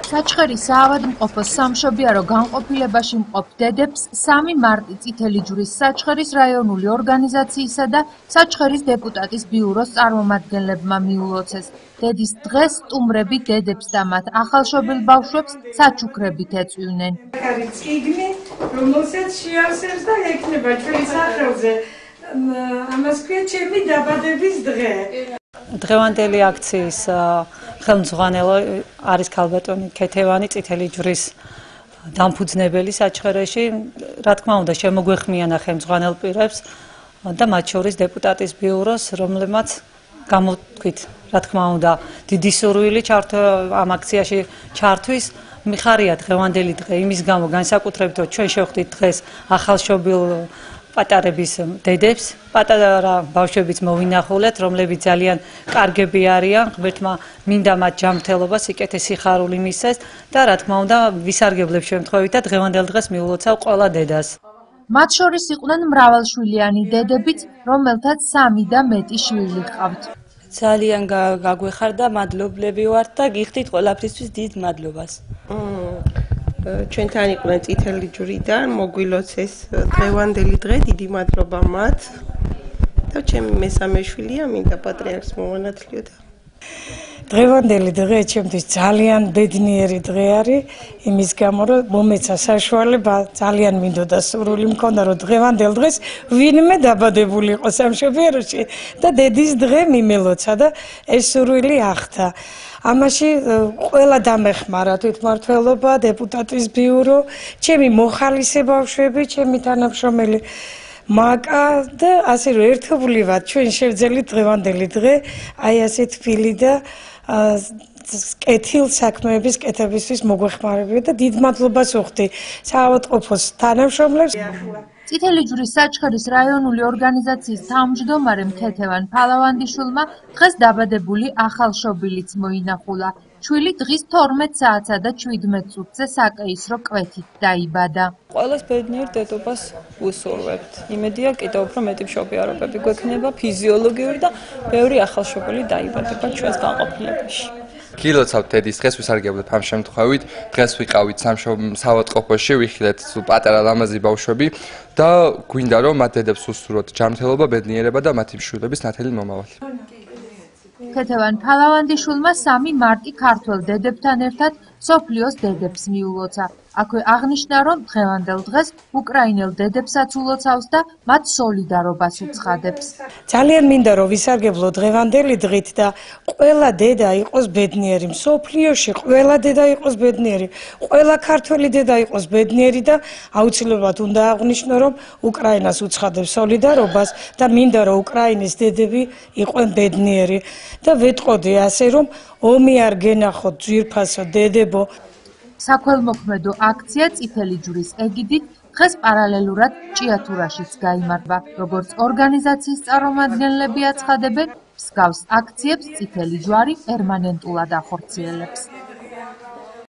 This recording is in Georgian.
საჩხერის საავადმყოფოს სამშობიარო განყოფილებაში მყოფ დედებს 3 მარტი წითელი ჯვრის საჩხერის რაიონული ორგანიზაციისა და საჩხერის დეპუტატის ბიუროს წარმომადგენლებმა მიულოცეს. დედის დღეს სტუმრები დედებს და მათ ახალშობილ ბავშვებს საჩუქრებით ეწვივნენ. წიგნი, რომელსაც შეავსებს და ექნება ჩვენი სახელზე. ამას ქვია ჩემი დაბადების დღე. დღევანდელი აქციის ხელმძღვანელი არის ქალბატონი ქეთევანი წითელი ჯვრის დამფუძნებელი საჩხერეში. რა თქმა უნდა, შემოგვეხმიანა ხელმძღვანელ პირებს და მათ შორის დეპუტატის ბიუროს, რომლებმაც გამოთქვით, რა თქმა უნდა, დიდი სურვილი ამ აქციაში ჩართვის. მიხარია დღევანდელი დღე იმის გამო განსაკუთრებით, რომ ჩვენ შევხვდით დღეს ახალშობილ პატარების დედებს, პატარა ბავშვებიც მოვინახულეთ, რომლებიც ძალიან კარგები არიან, ღმერთმა მინდა მათ ჯანმრთელობა, სიკეთე სიხარული მისცეს და რა თქმა უნდა, ვისარგებლებ შემთხვევით და დღევანდელ დღეს მიულოცავ ყველა დედას. მათ შორის იყვნენ მრავალშვილიანი დედებიც, რომელთაც 3 და მეტი შვილი ჰყავთ. ძალიან გაგვეხარდა, მადლობლები ვართ და გიხდით ყველაფრისთვის დიდ მადლობას. ჩვენთან იყვნენ წითელი ჯვრიდან, მოგვილოცეს დღევანდელი დღე, დიდი მადლობა მათ. და ჩემი მესამე შვილია, მინდა პატრიარქს მოვანათლიოთ. დღევანდელი დღე ჩემთვის ძალიან ბედნიერი დღე არის, იმის გამო რომ მომეცა საშუალება, ძალიან მინდოდა სურვილი მქონდა რომ დღევანდელ დღეს ვინმე დაბადებული იყო სამშობიაროში და დედის დღე მიმელოცა და ეს სურვილი ახდა. ამაში ყველა დამეხმარა თვითმმართველობა, დეპუტატის ბიურო, ჩემი მოხალისე ბავშვები, ჩემი თანამშრომელი მაკა და ასე რომ ერთობლივად ჩვენ შევძელით დღევანდელი დღე აი ასე თბილი და კეთილ საქმეების კეთებისთვის მოგვეხმარებიან და დიდ მადლობას ვუხდი საავადმყოფოს თანამშრომლებს. წითელი ჯვრის საჩხერის რაიონული ორგანიზაციის თავმჯდომარემ ქეთევან ფალავანდიშვილმა დღეს დაბადებული ახალშობილიც მოინახულა. შვილი დღის 12 საათსა და 17 წუთზე საკეისრო კვეთით დაიბადა. ყველას ბედნიერ დედობას ვუსურვებთ. იმედია კიდევ უფრო მეტი მშობიარობები გვექნება ფიზიოლოგიური და ბევრი ახალშობილი დაიბადება ჩვენს განყოფილებაში. გილოცავთ დედის დღეს, ვისარგებლებ ამ შემთხვევით. დღეს ვიყავით საავადმყოფოში, ვიხილეთ პატარა ლამაზი ბავშვები და გვინდა რომ მათ დედებს უსურვოთ ჯანმრთელობა, ბედნიერება და მათი მშვილდების ნათელი მომავალი. ქეთევან ფალავანდიშვილმა 3 მარტი ქართველ დედებთან ერთად სოფლიოს დედებს მიულოცა. აქვე აღნიშნა, რომ დღევანდელ დღეს უკრაინელ დედებსაც ულოცავს და მათ სოლიდარობას უცხადებს. ძალიან მინდა რომ ვისარგებლო დღევანდელი დღით და ყველა დედა იყოს ბედნიერი, სოფლიოში ყველა დედა იყოს ბედნიერი, ყველა ქართველი დედა იყოს ბედნიერი და აუცილებლად უნდა აღვნიშნო, რომ უკრაინას უცხადებს სოლიდარობას და მინდა რომ უკრაინის დედები იყვნენ ბედნიერი და ვეტყოდი ასე რომ ომი არ გენახოთ ძვირფასო დედებო. საქველმოქმედო აქცია წითელი ჯვრის ეგიდით დღეს პარალელურად ჭიათურაშიც გაიმართა. როგორც ორგანიზაციის წარმომადგენლები აცხადებენ, მსგავს აქციებს წითელი ჯვარი პერმანენტულად ახორციელებს.